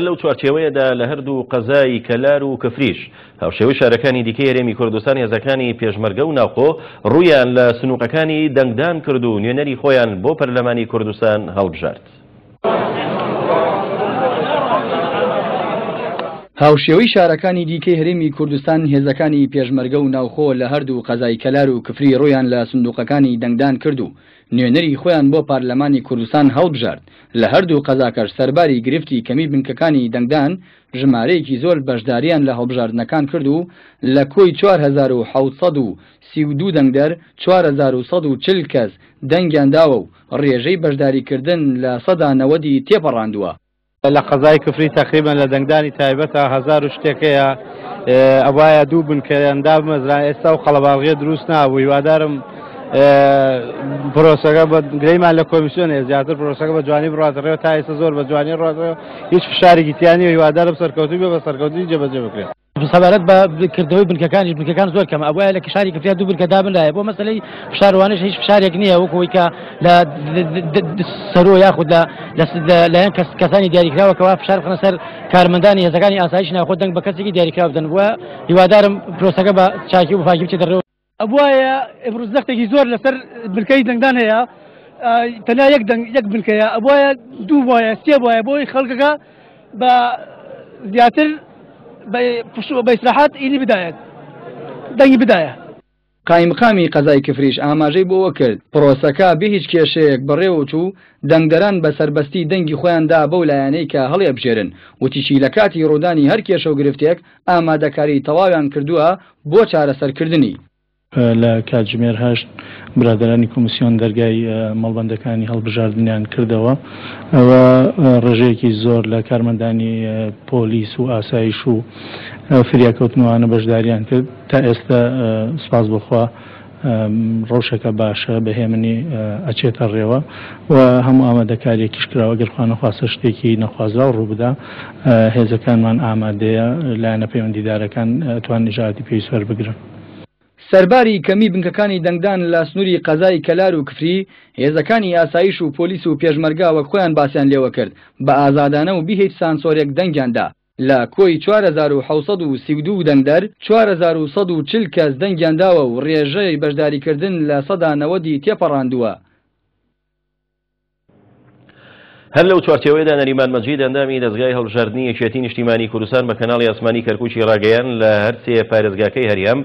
لەو چوارچێوەیەدا لە هەردوو قەزای کەلار و کفریش هاوشێوەی شارەکانی دیکەی هەرێمی کوردستان هێزەکانی پێشمەرگە و ناوخۆ ڕوویان لە سنووقەکانی دەنگدان کرد و نوێنەری خۆیان بۆ پەرلەمانی کوردستان هەڵبژارد. هاوشێوەی شارەکانی دیکەی هەرێمی کوردستان هێزەکانی پێشمەرگە و ناوخۆ لە هەردوو قەزای کەلار و کفری ڕوویان لە سندوقەکانی دەنگدان کرد و نوێنەری خۆیان بۆ پارلەمانی کوردستان هەڵبژارد، لە هەردوو قەزاکەش سەرباری گرفتی کەمی بنکەکانی دەنگدان، ژمارەیەکی زۆر بەشدارییان لە هەڵبژاردنەکان کرد و لە کۆی 4732 دەنگدەر، 4140 کەس دەنگیان داوە و ڕێژەی بەشداریکردن 90% ی تێپەڕاندووە. لە قەزای کفری تەقریبەن لە دەنگدانی تایبەتە هەزار و شتێک هەیە ئەبایە دوو بنکەیان دابمەزران ئێستا و قەڵەباڵغیە دروست نابوو هیوادارم پرۆسەکە بە گرەیمان لە کۆمیسیۆن هەیە زیاتر پرۆسەکە بە جوانی بڕاتە ڕێوە تا ئێستا زۆر بە جوانی ڕاتەوە هیچ فشارێکی تیا نییە هیوادارم سەرکەوتوو بێ بە سەرکەوتنی جێبەجێ بکرێت. سەبارەت بە کردنەوەی بنکەکانیش بنکەکان زۆر کەمە ئەبوایە لە شاری کفریا دوو بنکە دابنرایە بۆ مەسەلەی فشاروانش هیچ فشارێک نییە وەکو ئەوەی کە لە سەرۆ یاخود لە لایەن کەسانی دیاریکراوە کەوا فشار بخەنە سەر کارمەندانی هێزەکانی ئاسایش ناوخۆ دەنگ بە کەسێکی دیاریکراو بدەن و هیوادارم پرۆسەکە بە چاکی و پاکی بچێتە ڕێوە. ئەبوایە ئمڕوو زەختێکی زۆر لەسەر بنکەی دەنگدان هەیە تەنیا یەک دەنگ یەک بنکەیە ئەبوایە دوو بایە سێ بایە بۆی خەڵکەکە بە زیاتر بە ئیسراحەت ئینی بدایەت دەنگی بدایە. قایمقامی قەزای کفریش ئاماژەی بەوە کرد، پرۆسەکە بێ هیچ کێشەیەک بەڕێوەچوو، دەنگدەران بە سەربەستی دەنگی خۆیان دا بەو لایەنەی کە هەڵیئەبژێرن، وتیشی لە کاتی ڕوودانی هەر کێشە و گرفتێک ئامادەکاری تەواویان کردووە بۆ چارەسەرکردنی. لە کاتژمێر هەشت برادەرانی کۆمیسیۆن دەرگای مەڵبەندەکانی هەڵبژاردنیان کردەوە و ڕێژەیەکی زۆر لە کارمەندانی پۆلیس و ئاسایش و فریاکەوتنەوانە بەشداریان کرد. تا ئێستە سوپاس بۆ خوا ڕەوشەکە باشە، بە هێمنی ئەچێتە ڕێوە و هەموو ئامادەکارییەکیش کراوە، گەر خوا نەخواستە شتێکی نەخوازراو ڕووبدا هێزەکانمان ئامادەیە، لایەنە پەیوەندیدارەکان ئەتوانن ئیجرائاتی پێویست وەربگرن. سەرباری کەمی بنکەکانی دەنگدان لە سنووری قەزای کەلار و کفری، هێزەکانی ئاسایش و پۆلیس و پێشمەرگە وەک خۆیان باسیان لێوەکرد بە ئازادانە و بی هیچ سانسۆرێک دەنگیان دا. لە کۆی 4732 دەنگدەر، 4140 کەس دەنگیان داوە و رێژەی بەشداریکردن 90% ی تێپەڕاندووە. هەر لەو چوارچێوەیەدا نەریمان مەجید ئەندامی دەزگای هەڵبژاردنی یەکێتی نیشتیمانی کوردستان بە کەناڵی ئاسمانی کەرکوکی ڕاگەیاند لە هەرسێ پارێزگاکەی هەرێم.